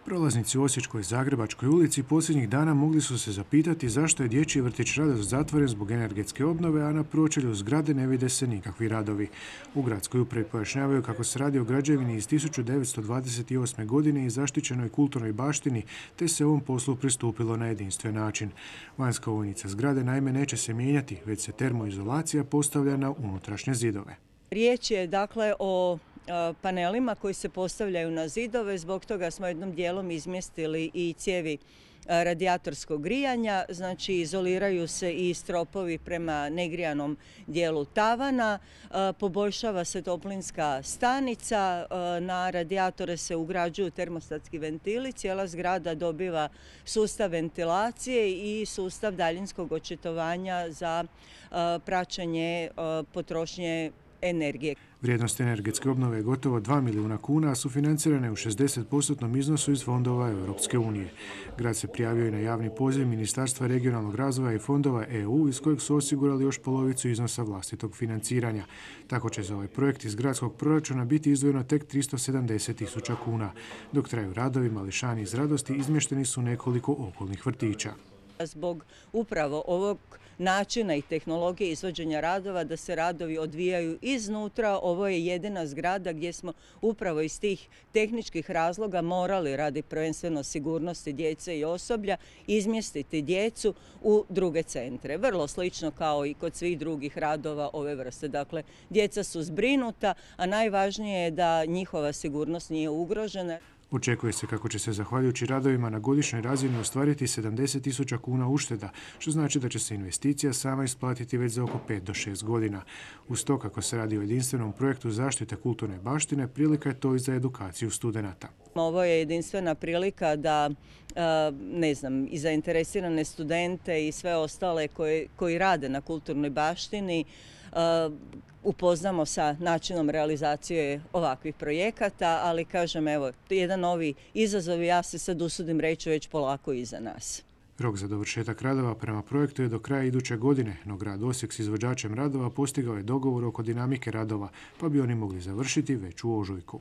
Prolaznici u Osječkoj i Zagrebačkoj ulici posljednjih dana mogli su se zapitati zašto je dječji vrtić Radost zatvoren zbog energetske obnove, a na pročelju zgrade ne vide se nikakvi radovi. U gradskoj upravi pojašnjavaju kako se radi o građevini iz 1928. godine i zaštićenoj kulturnoj baštini, te se ovom poslu pristupilo na jedinstven način. Vanjska ovojnica zgrade naime neće se mijenjati, već se termoizolacija postavlja na unutrašnje zidove. Riječ je dakle o panelima koji se postavljaju na zidove, zbog toga smo jednom dijelom izmjestili i cijevi radijatorskog grijanja, znači izoliraju se i stropovi prema negrijanom dijelu tavana, poboljšava se toplinska stanica, na radijatore se ugrađuju termostatski ventili, cijela zgrada dobiva sustav ventilacije i sustav daljinskog očitovanja za praćenje potrošnje energije. Vrijednost energetske obnove je gotovo 2 milijuna kuna, a sufinancirane u 60% iznosu iz fondova Europske unije. Grad se prijavio i na javni poziv Ministarstva regionalnog razvoja i fondova EU, iz kojeg su osigurali još polovicu iznosa vlastitog financiranja. Tako će za ovaj projekt iz gradskog proračuna biti izdvojeno tek 370.000 kuna. Dok traju radovi, mališani iz Radosti izmješteni su nekoliko okolnih vrtića. Zbog upravo ovog načina i tehnologije izvođenja radova, da se radovi odvijaju iznutra, ovo je jedina zgrada gdje smo upravo iz tih tehničkih razloga morali, radi prvenstveno sigurnosti djece i osoblja, izmjestiti djecu u druge centre. Vrlo slično kao i kod svih drugih radova ove vrste. Dakle, djeca su zbrinuta, a najvažnije je da njihova sigurnost nije ugrožena. Očekuje se kako će se zahvaljujući radovima na godišnjoj razini ostvariti 70.000 kuna ušteda, što znači da će se investicija sama isplatiti već za oko 5 do 6 godina. Uz to, kako se radi o jedinstvenom projektu zaštite kulturne baštine, prilika je to i za edukaciju studenata. Ovo je jedinstvena prilika da i zainteresirane studente i sve ostale koji rade na kulturnoj baštini upoznamo sa načinom realizacije ovakvih projekata, ali kažem, evo, jedan novi izazov, ja se sad usudim reći, već polako iza nas. Rok za dovršetak radova prema projektu je do kraja iduće godine, no grad Osijek s izvođačem radova postigao je dogovor oko dinamike radova, pa bi oni mogli završiti već u ožujku.